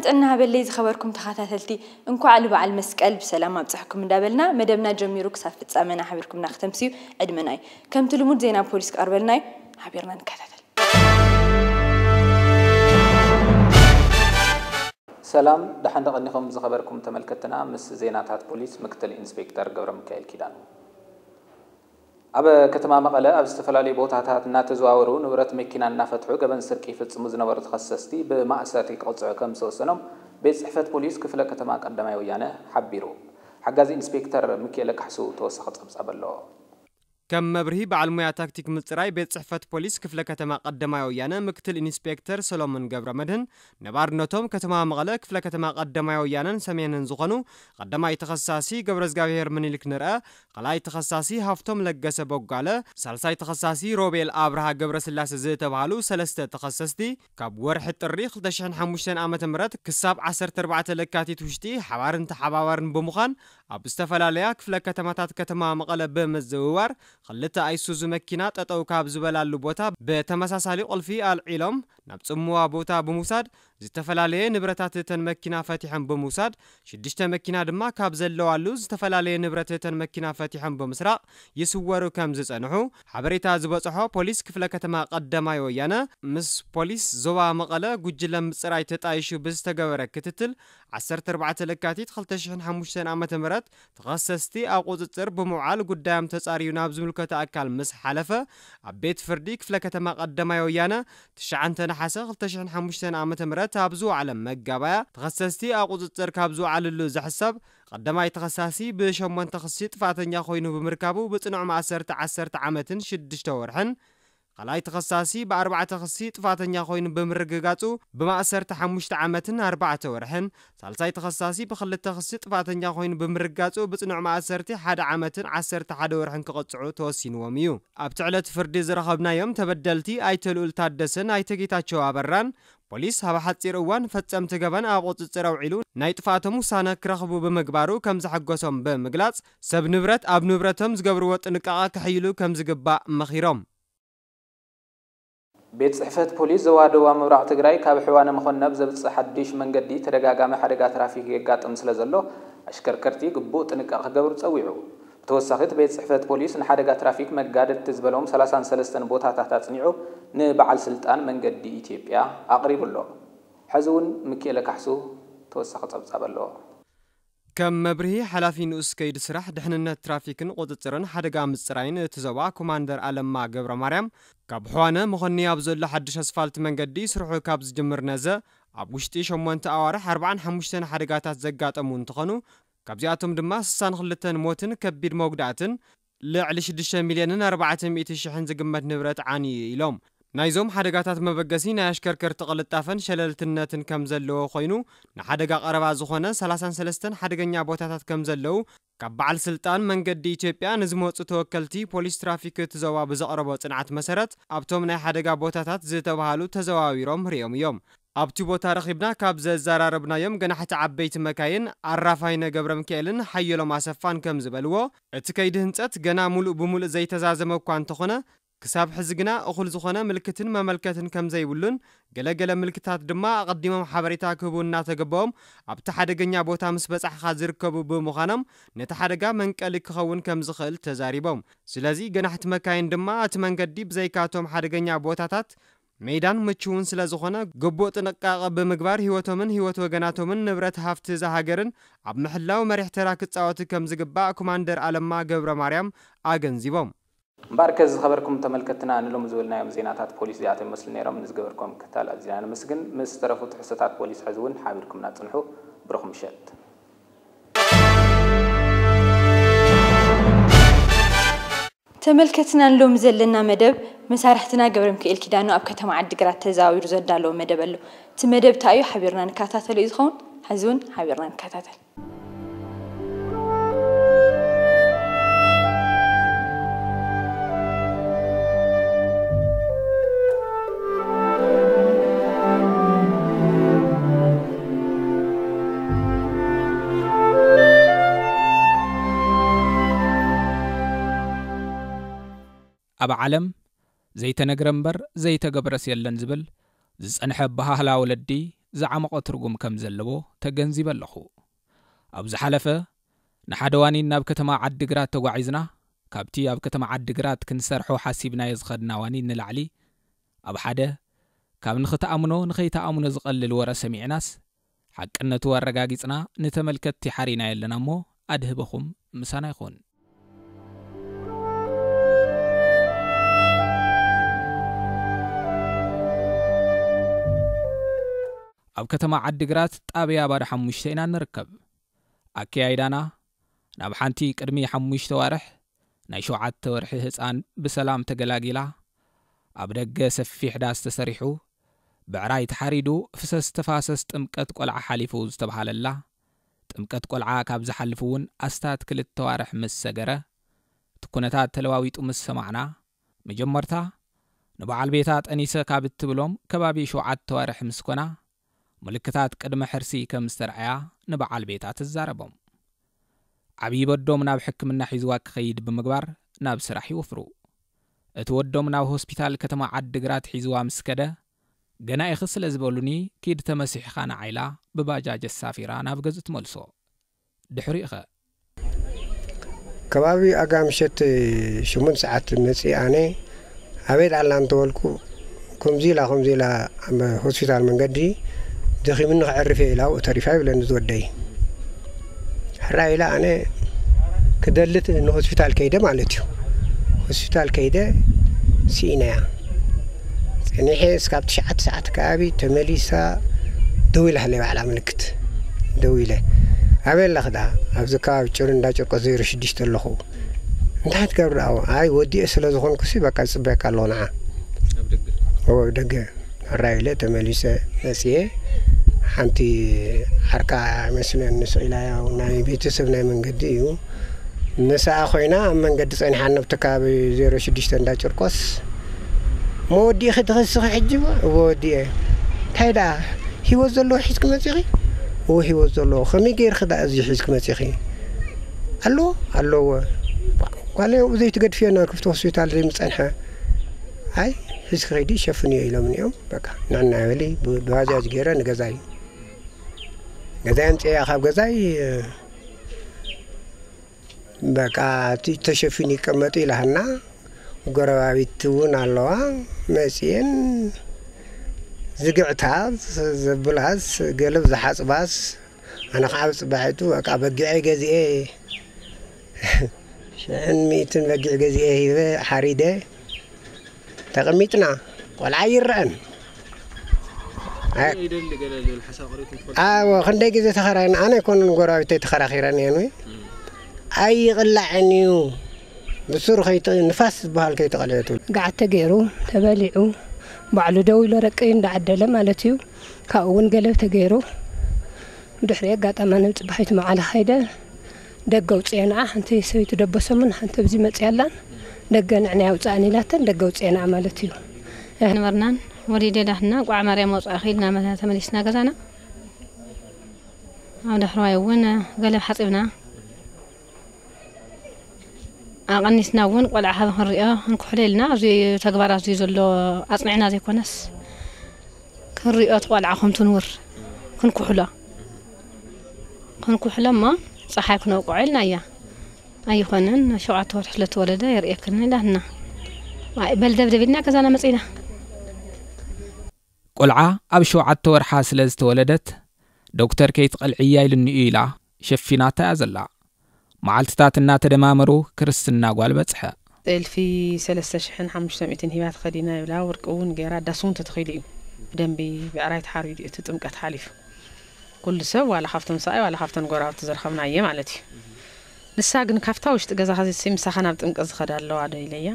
ጥዕና ሃበለይ ዝኸበርኩም ተኸታተልቲ፣ እንኳዕ ንበዓል መስቀል ብሰላም ኣብፀሐኩም እንዳበልና፣ መደብና ጀሚሩ ክሳብ ፍጻመና ሓቢርኩምና ክተምስዩ ዕድመና እዩ። ከምቲ ልሙድ ዜና ፖሊስ ክቐርበልና እዩ። ሓቢርና ንከታተል። ሰላም፣ ደሓን ደቐኒኹም ዝኸበርኩም ተመልከትና። ምስ ዜናታት ፖሊስ ምክትል ኢንስፔክተር ገብረ ሚካኤል ኪዳኑ። ኣብ ከተማ መቐለ ኣብ ዝተፈላለዩ ቦታታት እናተዘዋወሩ ንብረት መኪና እናፈትሑ ገበን ስርቂ ይፍጽሙ ዝነበሩ ተኸሰስቲ ብማእሰርቲ ክቕፅዑ ከም ዝተወሰኖም ቤት ጽሕፈት ፖሊስ ክፍለ ከተማ ቀዳማይ ወያነ ሓቢሩ። ሓጋዚ ኢንስፔክተር ሚኪኤለ ካሕሱ ተወሳኺ ጸብጻብ ኣለዎ። ከም መብርሂ፣ በዓል ሞያ ታክቲክ ምጽራይ ቤት ጽሕፈት ፖሊስ ክፍለ ከተማ ቀዳማይ ወያነ ምክትል ኢንስፔክተር ሰሎሞን ገብረ መድህን፣ ነባርነቶም ከተማ መቐለ ክፍለ ከተማ ቀዳማይ ወያነን ሰሜንን ዝኾኑ ቀዳማይ ተኸሳሲ ገብረዝጋብሄር ምኒልክ ንርአ፣ ካልኣይ ተኸሳሲ ሃፍቶም ለገሰ በጓለ፣ ሳልሳይ ተኸሳሲ ሮቤል ኣብርሃ ገብረስላሴ ዝተባህሉ ሰለስተ ተኸሰስቲ፣ ካብ ወርሒ ጥሪ ክልተ ሽሕን ሓሙሽተን ዓመተ ምህረት ክሳብ ዓሰርተ ኣርባዕተ ለካቲት ውሽጢ ሓባርን ተሓባባርን ብምዃን፣ ኣብ ዝተፈላለያ ክፍለ ከተማታት ከተማ መቐለ ብምዝውዋር፣ ክልተ ኣይሱዙ መኪና ጠጠው ካብ ዝበላሉ ቦታ ብተመሳሳሊ ቁልፊ ኣልዒሎም፣ ናብ ጽምዋ ቦታ ብምውሳድ፣ ዝተፈላለየ ንብረታት እተን መኪና ፈቲሖም ብምውሳድ፣ ሽዱሽተ መኪና ድማ ካብ ዘለዋሉ ዝተፈላለየ ንብረት እተን መኪና ፈቲሖም ብምስራቕ ይስወሩ ከም ዝጸንሑ ሓበሬታ ዝበጽሖ ፖሊስ ክፍለ ከተማ ቀዳማይ ወያነ፣ ምስ ፖሊስ ዞባ መቐለ ጉጅለ ምጽራይ ተጣይሹ ብዝተገበረ ክትትል፣ ዓሰርተ ኣርባዕተ ለካቲት ክልተ ሽሕን ሓሙሽተን ዓመተ ምህረት ተኸሰስቲ ኣብ ቁጽጽር ብምውዓል ጉዳዮም ተጻርዩ ናብ ዝምልከቶ ኣካል ምስ ሓለፈ፣ ኣብ ቤት ፍርዲ ክፍለ ከተማ ቀዳማይ ወያነ ትሽዓተ ነሓሰ ክልተ ሽሕን ሓሙሽተን ዓመተ ምህረት ኣብ ዝወዓለ መጋባያ፣ ተኸሰስቲ ኣብ ቁጽጽር ካብ ዝወዓልሉ ዝሕሰብ ቀዳማይ ተኸሳሲ ብሸሞንተ ክሲ ጥፋተኛ ኮይኑ ብምርካቡ ብጽኑዕ ማእሰርቲ ዓሰርተ ዓመትን ሽዱሽተ ወርሕን፣ ካልኣይ ተኸሳሲ ብኣርባዕተ ክሲ ጥፋተኛ ኮይኑ ብምርግጋጹ ብማእሰርቲ ሓሙሽተ ዓመትን ኣርባዕተ ወርሕን፣ ሳልሳይ ተኸሳሲ ብኽልተ ክሲ ጥፋተኛ ኮይኑ ብምርጋጹ ብጽኑዕ ማእሰርቲ ሓደ ዓመትን ዓሰርተ ሓደ ወርሕን ክቕጽዑ ተወሲንዎም እዩ። ኣብቲ ዕለት ፍርዲ ዝረኸብናዮም ተበደልቲ ኣይተ ልኡል ታደሰን ኣይተ ጌታቸው ኣበራን፣ ፖሊስ ኣብ ሓጺር እዋን ፈጸምቲ ገበን ኣብ ቁጽጽር ኣውዒሉ ናይ ጥፍኣቶም ውሳነ ክረኽቡ ብምግባሩ ከም ዘሐጎሶም ብምግላጽ፣ ሰብ ንብረት ኣብ ንብረቶም ዝገብርዎ ጥንቃቐ ከሕይሉ ከም ዝግባእ መኺሮም። ቤት ጽሕፈት ፖሊስ ዞባ ደቡብ ምብራቕ ትግራይ ካብ ሕዋነ መኾነብ ዘብጽእ ሓድሽ መንገዲ ተደጋጋሚ ሓደጋ ትራፊክ የጋጥም ስለ ዘሎ ኣሽከርከርቲ ግቡእ ጥንቃቐ ክገብሩ ጸዊዑ። ብተወሳኺ እቲ ቤት ጽሕፈት ፖሊስ ንሓደጋ ትራፊክ መጋደድቲ ዝበሎም ሰላሳን ሰለስተን ቦታታት ኣጽኒዑ ንበዓል ስልጣን መንገዲ ኢትዮጵያ ኣቕሪቡ ኣሎ። ሕዚ እውን ሚኪኤለ ካሕሱ ተወሳኺ ጸብጻብ ኣለዎ። ከም መብርሂ፣ ሓላፊ ንኡስ ከይዲ ስራሕ ድሕንነት ትራፊክን ቁጽጽርን ሓደጋ ምጽራይን እቲ ዞባ ኮማንደር ኣለማ ገብረ ማርያም፣ ካብ ሕዋነ መኾኒ ኣብ ዘሎ ሓድሽ ኣስፋልት መንገዲ ስርሑ ካብ ዝጅምር ነዘ ኣብ ውሽጢ ሸሞንተ ኣዋርሕ ኣርባዓን ሓሙሽተን ሓደጋታት ዘጋጠሙ እንትኾኑ፣ ካብዚኣቶም ድማ ስሳን ክልተን ሞትን ከቢድ መጉዳእትን ልዕሊ ሽዱሽተ ሚልዮንን ኣርባዕተ ሚእቲ ሽሕን ዝግመት ንብረት ዓንዩ ኢሎም። ናይዞም ሓደጋታት መበገሲ ናይ ኣሽከርከርቲ ቅልጣፈን ሸለልትነትን ከም ዘለዎ ኮይኑ፣ ንሓደጋ ቀረባ ዝኾነ ሰላሳን ሰለስተን ሓደገኛ ቦታታት ከም ዘለዉ ካብ በዓል ስልጣን መንገዲ ኢትዮጵያ ንዝመፁ ተወከልቲ ፖሊስ ትራፊክ እቲ ዞባ ብዘቕረቦ ፅንዓት መሰረት ኣብቶም ናይ ሓደጋ ቦታታት ዝተባሃሉ ተዘዋዊሮም ርእዮም እዮም። ኣብቲ ቦታ ረኺብና ካብ ዘዘራረብናዮም ገናሕቲ ዓበይቲ መካይን ኣራፋይነ ገብረሚካኤልን ሓየሎም ኣሰፋን ከም ዝበልዎ፣ እቲ ከይዲ ህንፀት ገና ሙሉእ ብሙሉእ ዘይተዛዘመ እኳ እንተኾነ፣ ክሳብ ሕዚ ግና እኹል ዝኾነ ምልክትን መመልከትን ከም ዘይብሉን፣ ገለ ገለ ምልክታት ድማ ኣቐዲሞም ሓበሬታ ክህቡ እናተገበኦም ኣብቲ ሓደገኛ ቦታ ምስ በጻሕኻ ዝርከቡ ብምዃኖም፣ ነቲ ሓደጋ መንቀሊ ክኸውን ከም ዝኽእል ተዛሪቦም። ስለዚ ገናሕቲ መካይን ድማ እቲ መንገዲ ብዘይካቶም ሓደገኛ ቦታታት ሜዳን ምቹውን ስለ ዝኾነ፣ ግቡእ ጥንቃቐ ብምግባር ህይወቶምን ህይወት ወገናቶምን ንብረት ሃፍቲ እዛ ሃገርን ኣብ ምሕላው መሪሕ ተራ ክጻወቱ ከም ዝግባእ ኮማንደር ኣለማ ገብረ ማርያም ኣገንዚቦም። እምበኣርከ ዝኸበርኩም ተመልከትና ንሎሚ ዝበልናዮም ዜናታት ፖሊስ እዚኣቶም ይመስሉ ነይሮም። ንዝገበርኩም ምክትታል ኣዚና ነመስግን። ምስ ዝተረፉ ትሕዝቶታት ፖሊስ ሕዚ እውን ሓቢርኩምና ጽንሑ። ብሩኽ ምሸት። ተመልከትና ንሎሚ ዘለና መደብ መሳርሕትና ገብረሚካኤል ኪዳኑ ኣብ ከተማ ዓዲግራት ተዛዊሩ ዘዳለዎ መደብ ኣሎ። እቲ መደብ እንታይ እዩ ሓቢርና ንከታተሎ እዩ ዝኸውን። ሕዚ እውን ሓቢርና ንከታተል። ኣብ ዓለም ዘይተነግረ እምበር ዘይተገብረስ የለን ዝብል ዝጸንሐ ኣበሃህላ ወለዲ ዝዓመቖ ትርጉም ከም ዘለዎ ተገንዚበ ኣለኹ። ኣብ ዝሓለፈ ንሓደ ዋኒን ናብ ከተማ ዓዲግራት ተጓዒዝና፣ ካብቲ ኣብ ከተማ ዓዲግራት ክንሰርሖ ሓሲብናዮ ዝኸድና ዋኒን ንላዕሊ፣ ኣብ ሓደ ካብ ንኽትኣምኖ ንኸይትኣምኖ ዝቐልል ወረ ሰሚዕናስ፣ ሓቅነቱ ኣረጋጊጽና ንተመልከትቲ ሓሪናዮ ኣለና እሞ ኣድህበኹም ምሳና ይኹን። ኣብ ከተማ ዓዲግራት ጣብያ ባዶ ሓሙሽተ ኢና ንርከብ። ኣከያይዳና ናብ ሓንቲ ቅድሚ ሓሙሽተ ዋርሕ ናይ ሸውዓተ ወርሒ ህጻን ብሰላም ተገላጊላ፣ ኣብ ደገ ሰፊሕ ዳስ ተሰሪሑ፣ ብዕራይ ተሓሪዱ፣ ፍሰስ ተፋሰስ ጥምቀት ቆልዓ ሓሊፉ ዝተብሃለላ፣ ጥምቀት ቆልዓ ካብ ዝሓልፍ እውን ኣስታት ክልተ ዋርሕ ምስ ሰገረ፣ እቲ ኩነታት ተለዋዊጡ ምስ ሰማዕና፣ መጀመርታ ንበዓል ቤታ ጠኒሰ ካብ እትብሎም ከባቢ ሸውዓተ ዋርሕ ምስ ኮና፣ ምልክታት ቅድመ ሕርሲ ከም ዝተርኣያ ንበዓል ቤታ ትዛረቦም። ዓብዪ በዶም ናብ ሕክምና ሒዝዋ ክኸይድ ብምግባር ናብ ስራሕ ይወፍሩ። እቲ ወዶም ናብ ሆስፒታል ከተማ ዓዲግራት ሒዝዋ ምስ ከደ፣ ገና ኢኺ ስለ ዝበሉኒ፣ ኪድ ተመሲሕኻ ንዓ ኢላ ብባጃጅ ኣሳፊራ ናብ ገዝኡ ትመልሶ። ድሕሪኡኸ? ከባቢ ኣጋ ምሸት ሽሙን ሰዓት መጺእ ኣነ ኣበይ ደኣላ እንተበልኩ፣ ከምዚ ኢላ፣ ከምዚ ኢላ ኣብ ሆስፒታል መንገዲ ደኺሙኒ ክዕርፍ እየ ኢላ ኣብኡ ተሪፋ ይብለኒ ዝወደይ። ሕራይ ኢለ ኣነ ክደልት ንሆስፒታል ከይደ ማለት እዩ። ሆስፒታል ከይደ ስኢነያ። ጸኒሐ እስካብ ትሽዓተ ሰዓት ከባቢ ተመሊሳ ደው ኢላ ሃለይ ባዕላ ምልክት። ደው ኢለ፣ "ኣበይ ኣለኺ ደኣ?" "ኣብዚ ከባቢ ጭሩ እንዳ ጨርቆስ ዜሮ ሽዱሽተ ኣለኹ." "እንታይ ትገብሪ ደኣ?" "ኣይ ወዲኤ ስለ ዝኾንኩሲ በቃ ዝጽበየካ ኣለኹ ንዓ." ኣብ ደገ? "እወ ኣብ ደገ." ሕራይ ኢለ ተመሊሰ መጽየ። ሓንቲ ዓርካ መስለን ንስቕ ኢላ፣ ያው ናይ ቤተሰብ ናይ መንገዲ እዩ። ምስኣ ኮይና ኣብ መንገዲ ጸኒሓ፣ ኣብቲ ከባቢ ዜሮ ሽዱሽተ እንዳ ጨርቆስ። "እሞ ወዲእኺ ትኸስኺ ሕጂ?" "እወ ወዲኤ." "እንታይ ደኣ ህይወት ዘለዎ ሒዝኪ መጺኺ?" "እወ ህይወት ዘለዎ." "ከመይ ገይርኺ ደኣ እዚ ሒዝኪ መጺኺ?" "ኣሎ ኣለዎ። ጓለይ ኣብኡ ዘይትገድፍዮ ናብ ክፍቲ ሆስፒታል ዘይምጸንሐ?" "ኣይ ሒዝኪ ከይዲ ሸፍንዮ ኢሎምኒ እዮም። በቃ ንዕና በሊ፣ ብ-፣ ብባጃጅ ገይረ ንገዛይ፣ ገዛይ ኣምጽኤያ ካብ ገዛይ፣ በቃ እቲ ተሸፊኑ ይቀመጡ" ኢላሃና። ጎረባቢት እውን ኣለዋ መጺኤን፣ ዝግዕታ ዘብላስ፣ ገለብ ዝሓጽባስ፣ ኣነ ከዓ ብጽባሒቱ በቃ በጊዐይ ገዚኤ፣ ሽሕን ሚእትን በጊዕ ገዚኤ ሂበ ሓሪደ። ተቐሚጥና፣ ቆልዓ ይረኣን። ኣይ፣ ይደሊ ገለ ዝብል ሓሳብ ቀሪብኩም ትፈልጡ? ኣዎ፣ ክንደይ ግዜ ተኸራይና፣ ኣነ ኣይኮነን ጎረባብተይ ተኸራኺረን እየን ወይ? እም። ኣይቕላዕን እዩ። ብሱሩ ከይተ-፣ ንፋስ ዝበሃል ከይተቐልዐ ትብል። ጋዓት ተገይሩ፣ ተበሊዑ፣ ባዕሉ ደው ኢሉ ረቂ እንዳዓደለ ማለት እዩ። ካብኡ እውን ገለብ ተገይሩ፣ ብድሕሪ ኣጋጣሚ ኣነ ብጽባሒቱ መዓላ ከይደ፣ ደገ ኣውጽኤንኣ፣ ሓንቲ ሰበይቲ ደበሰሙን ሓንቲ ኣብዚ መጽያ ኣላን፣ ደገ ንዕና ኣውጽኣን ኢላተን፣ ደገ ኣውጽኤንኣ ማለት እዩ። ንበርናን ወሊደ ዳህና፣ ቋዕ ማርያም ኣውጽኣኺ ኢልና መ-፣ ተመሊስና ገዛና። ኣብ ዳሕረዋይ እውን ገለብ ሓጺብና፣ ኣቐኒስና እውን ቆልዓ ካብ ክንሪኦ ክንኩሕሎ ኢልና፣ ኣብዚ ተግባር ኣብዚ ዘሎ ኣጽኒዕና ዘይኮነስ፣ ክንሪኦ እቲ ቆልዓ ከምቱ ንውር ክንኩሕሎ፣ ክንኩሕሎ እሞ ጸሓይ ክነውቅዖ ኢልና እያ። ኣይኾነን፣ ሸውዓተ ወርሒ ስለ ተወለደ የርእየክን ኢላትና። ኣይ፣ በል ደብደብ ኢልና ገዛና መጺና። ቆልዓ ኣብ ሸውዓተ ወርሓ ስለ ዝተወለደት፣ ዶክተር ከይትቐልዕያ ኢሉኒ እዩ ኢላ ሸፊናታ እያ ዘላ። መዓልትታት እናተደማመሩ ክርስትና ጓል በጽሐ። ጥልፊ ሰለስተ ሽሕን ሓሙሽተ ሚእትን ሂባ ተኸዲና ይብላ፣ ወርቂ እውን ገይራ፣ ዳስ እውን ተተኺሉ እዩ። ብደንቢ ብዕራይ ተሓሪዱ እዩ እቲ ጥምቀት ሓሊፉ። ኩሉ ሰብ ዋላ ካብቶም ሰብኣይ ዋላ ካብተን ጎረባብቲ ዝረኸብናየ ማለት እዩ። ንሳ ግን ካብታ ውሽጢ ገዛ ኸዚሲ ምሳኻ ናብ ጥምቀት ዝኸዳ ኣለዋ ዶ ኢለያ።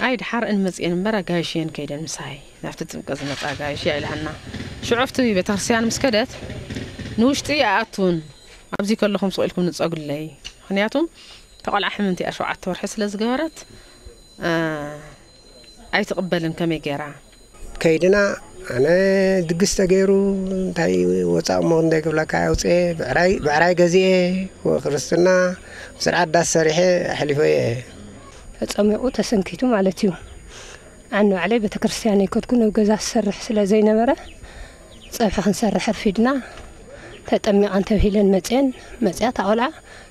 ኣይ ድሓር እን መጽኤን እምበር ኣጋይሽ እየን ከይደን ምሳይ። ናብቲ ጥምቀት ዝመጻ ኣጋይሽ እያ ኢላሃና። ሽዑ ኣብቲ ቤተክርስትያን ምስ ከደት ንውሽጢ ኣይኣቱን። ኣብዚ ከለኹም ስቕ ኢልኩም ንጸጉለይ። ምኽንያቱ ተቆልዓ ሕምንቲ እያ ሸውዓተ ወርሒ ስለ ዝገበረት፣ እ፣ ኣይትቕበልን ከመይ ገይራ። ከይድና ኣነ ድግስ ተገይሩ እንታይ ወጻእ እሞ ክንደይ ክብለካ ኣውጽኤ፣ ብዕራይ፣ ብዕራይ ገዚኤ፣ ወ-፣ ክርስትና ስርዓት ዳስ ሰሪሐ ኣሕሊፈዮ እየ። ተጸሚቑ ተሰንኪቱ ማለት እዩ። ኣነ ባዕለይ ቤተክርስትያን ኣይከድኩን፣ ኣብ ገዛ ዝሰርሕ ስለ ዘይነበረ፣ ጸብሒ ክንሰርሕ ኣርፊድና፣ ተጠሚቐን ተብሂለን መጽየን። መጽያ እታ ቆልዓ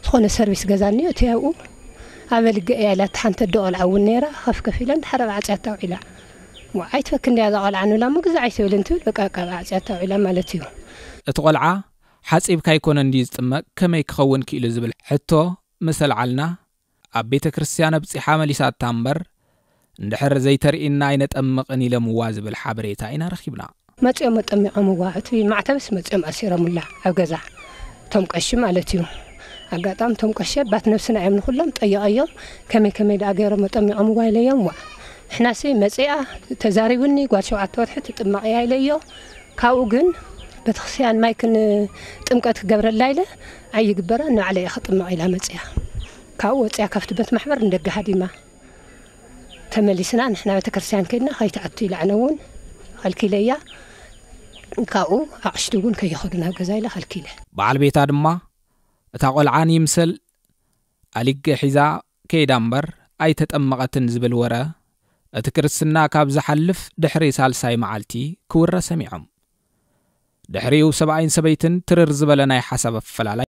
ዝኾነ ሰርቪስ ገዛ እኒኦ እቲ ኣብኡ ኣበልገ እያ ኢላ፣ እታ ሓንቲ ኣደ ቆልዓ እውን ነይራ። ከፍ ከፍ ኢለን ድሓር ኣብ ዓጽያ ኣውዒላ። ዋ፣ ኣይትፈክ እንድያ እዛ ቆልዓ ንብላ እሞ፣ ግዛ ኣይትብል እንትብል፣ በቃ፣ በቃ ኣብ ዓጽያ ኣውዒላ ማለት እዩ። እቲ ቆልዓ ሓጺብካ ኣይኮነን ድዩ ዝጥመቕ፣ ከመይ ክኸውን ክኢሉ ዝብል ሕቶ ምስ ኣልዓልና፣ ኣብ ቤተ ክርስቲያን ኣብጺሓ መሊሳታ እምበር፣ እንድሕር ዘይተርእየና ኣይነጠምቕን ኢለምዋ ዝብል ሓበሬታ ኢና ረኺብና። መጺኦም ኣጠሚቖምዋ፣ እቲ ማዕተብስ መጺኦም ኣሲሮምላ ኣብ ገዛ፣ እቶም ቀሺ ማለት እዩ። ኣጋጣሚ እቶም ቀሺ ባት ነብስና እዮም ንኹሎም ጠይቐዮም፣ ከመይ ከመይ ደኣ ገይሮም ኣጠሚቖምዋ ኢለዮም። ዋ፣ ንሕናሲ መጺኣ ተዛሪቡኒ፣ ጓል ሸውዓተ ወርሒ ትጥመቕ እያ ኢለዮ። ካብኡ ግን ቤተክርስትያን ማይ ክን ጥምቀት ክገብረላ ኢለ ኣይግበራ፣ ንባዕለይ እየ ክጥመቕ ኢላ መጺኣ። ካብኡ ወጺኣ ካብቲ ቤት ማሕበር ንደገ ሃዲማ። ተመሊስና ንሕና ቤተክርስትያን ከድና ከይትኣቱ ኢላ፣ ኣነ እውን ከልኪለያ። ካብኡ ኣቕሽቲ እውን ከይኸዱ ናብ ገዛ ኢለ ከልኪለ። በዓል ቤታ ድማ እታ ቆልዓ ንይምሰል ኣሊገ ሒዛ ከይዳ እምበር ኣይተጠመቐትን ዝብል ወረ እቲ ክርስትና ካብ ዝሓልፍ ድሕሪ ሳልሳይ መዓልቲ ክውረ ሰሚዖም። ድሕሪኡ ሰብኣይን ሰበይትን ትርር ዝበለ ናይ ሓሳብ ኣፈላላይ